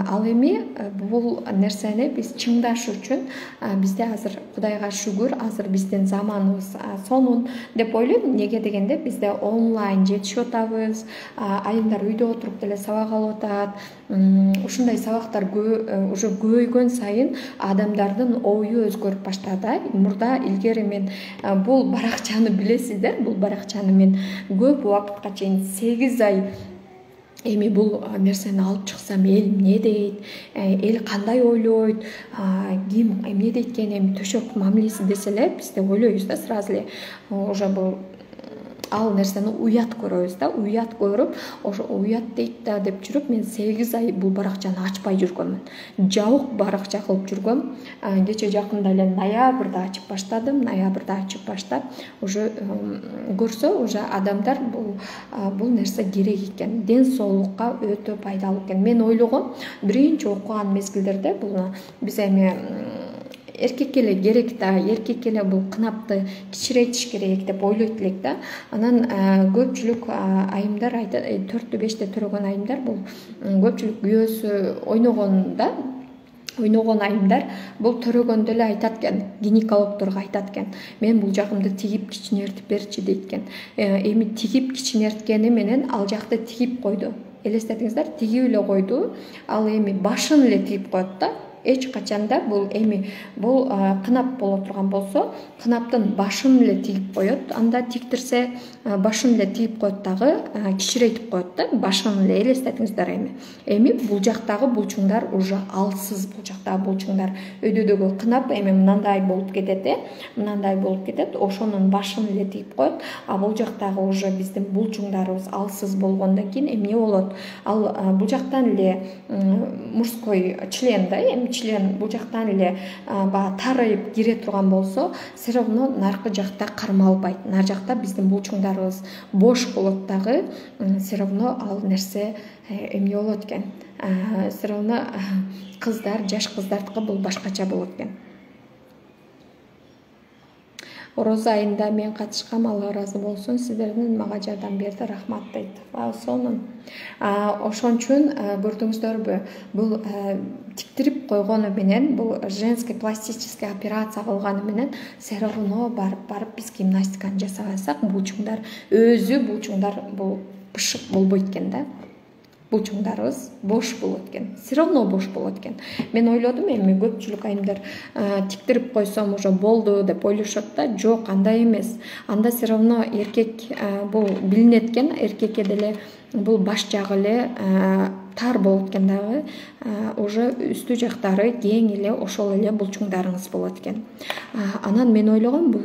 Ал эми бул нерсени биз чыңдаш үчүн бизде азыр Кудайга шүгүр, азыр биздин заманыбыз сонун деп ойлойм. Неге дегенде бизде онлайн жетишип атабыз, айымдар үйдө отуруп деле сабак алып атат. Ушундай сабактар уже көбөйгөн сайын адамдардын ою өзгөрүп баштады. Мурда илгери мен бул баракчаны билесиздер, бул баракчаны мен көп убакытка чейин 8 ай эми бул нерсени алып чыксам эл эмне дейт, эл кандай ойлойт, ким эмне дейт экен, эми төшөк мамилеси десе эле бизде ойлойбуз да сразу эле уже бул ал нерсени уят көрөбүз да, уят көрүп, ошо уят дейт да деп жүрүп, мен 8 ай бул баракчаны ачпай жүргөмүн. Жабык баракча кылып жүргөм. Кече жакында эле ноябрда ачып баштадым. Ноябрда ачып баштап, уже көрсө, уже адамдар бул нерсе керек экен. Ден соолукка өтө пайдалуу экен. Мен ойлогом, биринчи окуган мезгилдерде бул биз эми эркекке эле керек да, эркекке эле бул кынапты кичирейтиш керек деп ойлойт элек да. Анан көпчүлүк айымдар айтат, 4-5 төрөгөн айымдар, бул көпчүлүк күйөөсү ойногон айымдар бул төрөгөндө эле айтат экен, гинекологдорго айтат экен, мен бул жагымды тигип кичинертип берчи дейт экен. Эми тигип кичинерткени менен ал жакты тигип койду. Элестетиңиздер, тигип эле койду, ал эми башын эле тигип коет да. Эч качанда бул эми бул кынап боло турган болсо, кынаптын башын эле тигип коет. Анда тиктирсе, башын эле тигип коет дагы, кичирейтип коет да, башын эле. Элестетиңиздер эми. Эми бул жактагы булчуңдар уже алсыз, бул жактагы булчуңдар. Өйдөдөгү кынап эми мындай болуп кетет, мындай болуп кетет, ошонун башын эле тигип коет. Бул жактагы уже биздин булчуңдарыбыз алсыз болгондон кийин эмне болот? Ал бул жактан эле мужской член да, эми член бул жактан эле баягы тарайып кире турган болсо, все равно наркы жакта кармалбайт. Нар жакта биздин булчуңдарыбыз бош болот дагы, все равно ал нерсе эмне болот экен? Все равно кыздар, жаш кыздардыкы бул башкача болот экен. Орозо айында мен катышкам, Алла ыраазы болсун, сиздердин мага жардам берди, рахмат дейт. Сонун. Ошон үчүн көрдүңүздөрбү, бул тиктирип койгону менен, бул женский пластический операция кылганы менен все равно барып биз гимнастиканы жасабасак, булчуңдар бул бышык болбойт экен да. Булчуңдарыбыз бош болот экен. Все равно бош болот экен. Мен ойлодум, эми көпчүлүк айымдар тиктирип койсом уже болду деп ойлошот да. Жок, андай эмес. Анда все равно эркек бул билинет экен, эркекке деле бул баш жагы эле тар болот экен дагы, уже үстү жактары кең эле ошол эле булчуңдарыңыз болот экен. Анан мен ойлогом, бул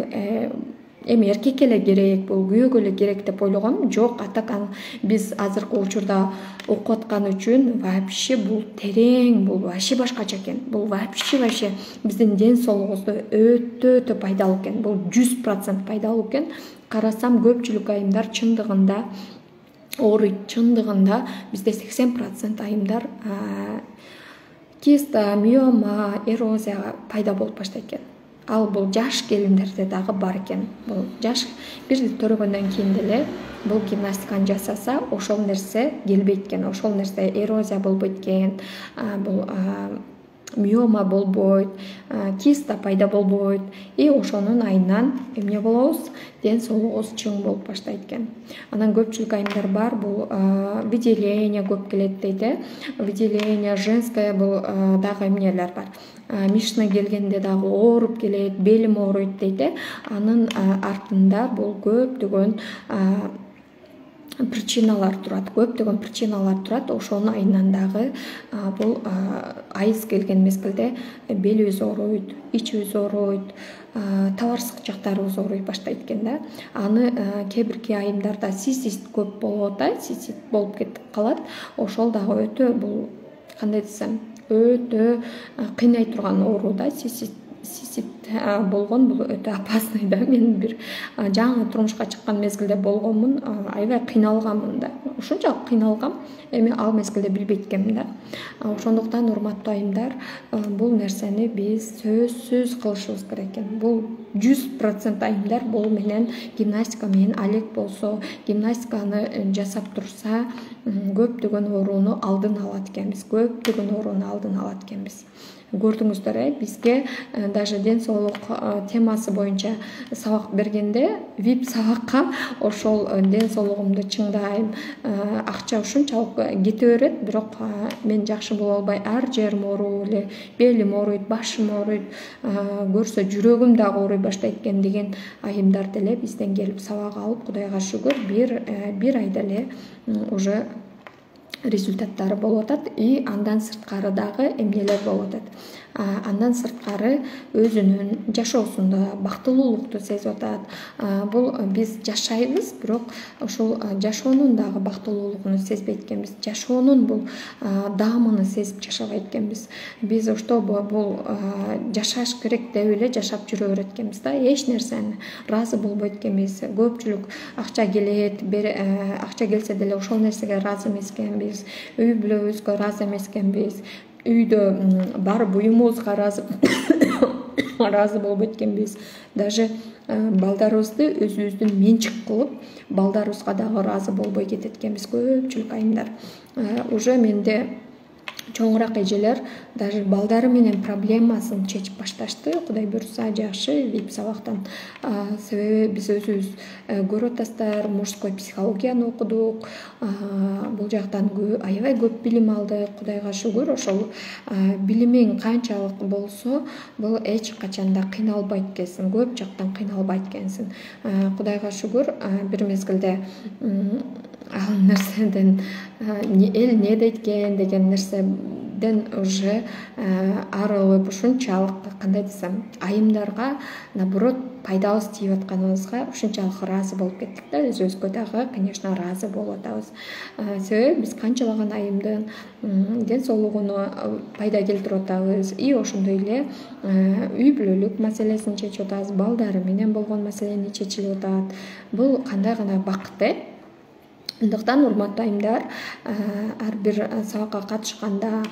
эми эркекке эле керек, бул күйөөгө эле керек деп ойлогом. Жок, атакан биз азыркы учурда окуп аткан үчүн вообще бул терең, бул вообще башкача экен. Бул вообще биздин ден соолугубузда өтө пайдалуу экен. Бул 100% пайдалуу экен. Карасам көпчүлүк айымдар чындыгында ооруйт. Чындыгында бизде 80% айымдар киста, миома, эрозия пайда болуп баштайт экен. Ал бул жаш келиндерде дагы бар экен. Бул жаш бир жыл төрөгөндөн кийин деле бул гимнастиканы жасаса ошол нерсе келбейт экен. Ошол нерсе эрозия болбойт экен. Бул миома болбойт, киста пайда болбойт. И ошонун айынан эмне болобуз? Ден соолугубуз чың болуп баштайт экен. Анан көпчүлүк айымдар бар, бул выделение көп келет дейт. Выделение женское бул дагы эмнелер бар. Мишна келгенде дагы ооруп келет, белим ооруйт дейт. Анын артында бул көптөгөн причиналар турат. Ошонун айынан дагы бул айыз келген мезгилде белибиз ооруйт, ичибиз ооруйт, табарсык жактарыбыз ооруй баштайт экен да. Аны кээ-бирки айымдарда цистит көп болуп атат, цистит болуп кетип калат. Ошол дагы өтө бул кандай десем, өтө кыйнай турган оору да. Цистит болгон бул өтө опасный да. Мен бир жаңы турмушка чыккан мезгилде болгонмун, аябай кыйналганмын да. Ушунчалык кыйналгам, эми ал мезгилде билбейт экенмин да. Ошондуктан урматтуу айымдар, бул нерсени биз сөзсүз кылышыбыз керек экен. Бул 100% айымдар бул менен гимнастика менен алек болсо, гимнастиканы жасап турса, көптөгөн ооруну алдын алат экенбиз. Көрдүңүздөр, бизге даже ден соолук темасы боюнча сабак бергенде, VIP сабакка ошол ден соолугумду чыңдайм, акча ушунчалык кете берет, бирок мен жакшы боло албай, ар жерим ооруу эле, белим ооруйт, башым ооруйт, көрсө жүрөгүм дагы ооруй баштайт экен деген айымдар деле бизден келип сабак алып, Кудайга шүгүр, бир айда эле уже результаттары болуп атат. И андан сырткары дагы эмнелер болуп атат. Андан сырткары өзүнүн жашоосунда бактылуулукту сезип атат. Бул биз жашайбыз, бирок ошол жашоонун дагы бактылуулугун сезбейт экенбиз. Жашоонун бул даамын сезип жашабайт экенбиз. Биз чтобы бул жашаш керек деп эле жашап жүрө берет экенбиз да. Эч нерсени ыраазы болбойт экенбиз. Көпчүлүк акча келет, акча келсе деле ошол нерсеге ыраазы эмес экенбиз. Үй бүлөбүзгө ыраазы эмес экенбиз. Үйдө бар буюмубузга ыраазы болбойт экенбиз. Даже балдарыбызды өзүбүздүн менчик кылып, балдарыбызга дагы ыраазы болбой кетет экенбиз көпчүлүк айымдар. Уже менде чоңураак эжелер даже балдары менен проблемасын чечип башташты. Кудай буйрса жакшы VIP сабактан. Себеби биз өзүбүз көрүп атасыздар, мужской психологияны окудук. Бул жактан аябай көп билим алдык. Кудайга шүгүр, ошол билимиң канчалык болсо, бул эч качанда кыйналбайт экенсиң, көп жактан кыйналбайт экенсиң. Кудайга шүгүр, бир мезгилде ал нерседен эл не дейт экен деген нерседен уже арылып, ушунчалык кандай десем, айымдарга наоборот пайдабыз тийип атканыбызга ушунчалык ыраазы болуп кеттик да. Өзүбүзгө дагы, конечно, ыраазы болуп атабыз. Себеби биз канчалаган айымдын ден соолугуна пайда келтирип атабыз. И ошондой эле үй бүлөлүк маселесин чечип атабыз, балдары менен болгон маселени чечилип атат. Бул кандай гана бакыт, Андыктан урматтуу айымдар, ар бир сабакка катышканда,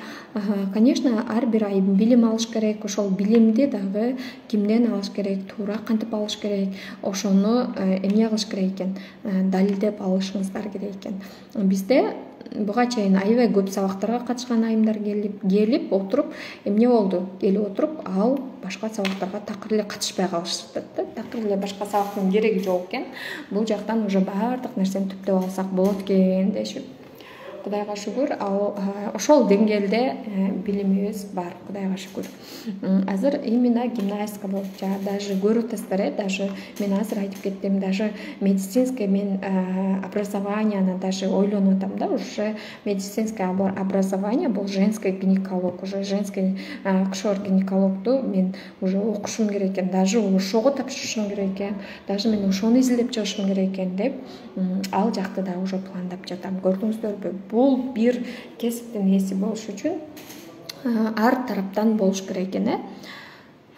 конечно, ар бир айым билим алыш керек. Ошол билимди дагы кимден алыш керек, туура кантип алыш керек, ошону эмне кылыш керек экен, далилдеп алышыңыздар керек экен. Бизде буга чейин аябай көп сабактарга катышкан айымдар келип отуруп, эмне болду? Келип отуруп, ал башка сабактарга такыр эле катышпай калышты да. Такыр эле башка сабактын кереги жок экен. Бул жактан уже баардык нерсени түптөп алсак болот экен дешип. Кудайга шүгүр, ошол деңгээлде билимибиз бар, Кудайга шүгүр. Азыр именно гимнастика боюнча даже көрүп атасыздар, даже мен азыр айтып кеттим, даже медицинский мен образованияны даже ойлонуп атам да. Уже медицинское образование бул женский гинеколог, уже женский акушер-гинекологду мен уже окушум керек экен, даже ошого тапшырышым керек экен, даже мен ошону изилдеп чыгышым керек экен деп ал жакты да уже пландап жатам. Көрдүңүздөрбү? Бул бир кесиптин ээси болуш үчүн ар тараптан болуш керек экен.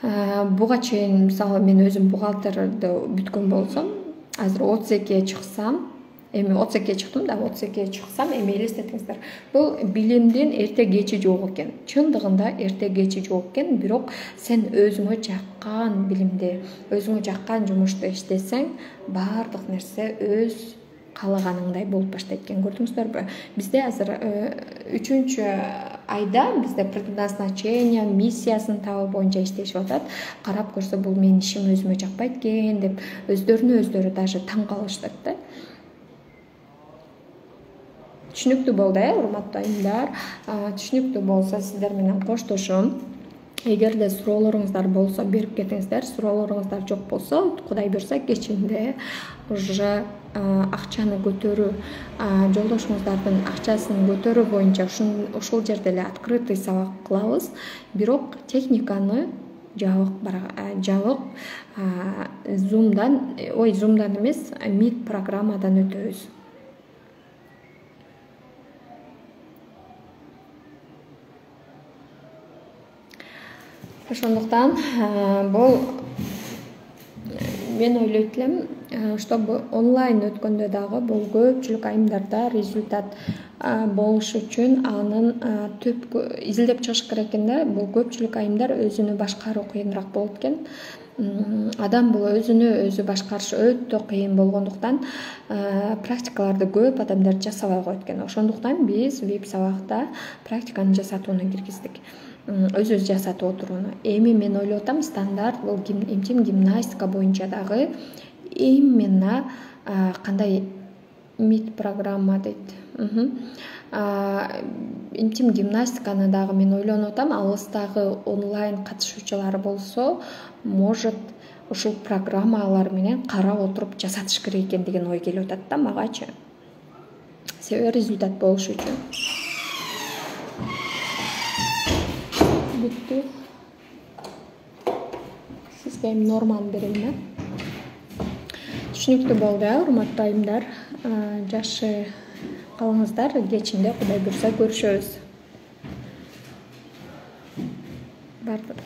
Буга чейин мисалы мен өзүм бухгалтерди бүткөн болсом, азыр 32-ге чыксам, эми отсекке чыктым да, отсекке чыксам эми элестетиңиздер. Бул билимдин эрте кечи жок экен. Чындыгында эрте кечи жок экен, бирок сен өзүңө жаккан билимди, өзүңө жаккан жумушту иштесең, баардык нерсе өз каалаганыңдай болуп баштайт экен. Көрдүңүздөрбү? Бизде азыр 3-чү айда бизде предназначение, миссиясын табуу боюнча иштешип атат. Карап көрсө, бул менин ишим өзүмө жакпайт экен деп өздөрүнө өздөрү даже таң калышат да. Түшүнүктүү болду, урматтуу айымдар. Түшүнүктүү болсо сиздер менен коштошом. Эгерде суроолоруңуздар болсо берип кетиңиздер. Суроолоруңуздар жок болсо, Кудай буйрса кечинде уже акчаны көтөрүү, жолдошуңуздардын акчасын көтөрүү боюнча ушул жерде эле открытый сабак кылабыз. Бирок техниканы жабык Zoom'дан эмес, Meet программадан өтөбүз. Ошондуктан бул мен ойлойт элем, чтобы онлайн өткөндө дагы бул көпчүлүк айымдарда результат болуш үчүн анын түп изилдеп чыгыш керек экен да. Бул көпчүлүк айымдар өзүнү башкаруу кыйыныраак болот экен. Адам бул өзүнү өзү башкарыш өтө кыйын болгондуктан практикаларды көп адамдар жасабай коет экен. Ошондуктан биз VIP сабакта практиканы жасатууну киргиздик. Өзүбүз жасатып отурууну. Эми мен ойлоп атам, стандарт бул эмчим гимнастика боюнча дагы именно кандай Meet программа дейт. Эмчим гимнастиканы дагы мен ойлонуп атам, алыстагы онлайн катышуучулар болсо, может ушул программалар менен карап отуруп жасатыш керек экен деген ой келип атат да магачы. Себеби результат болуш үчүн. Бүттү. Сизге эми норманы берейин. Түшүнүктүү болду, урматтуу айымдар. Жакшы калыңыздар. Кечинде Кудай буйрса көрүшөбүз. Бардык.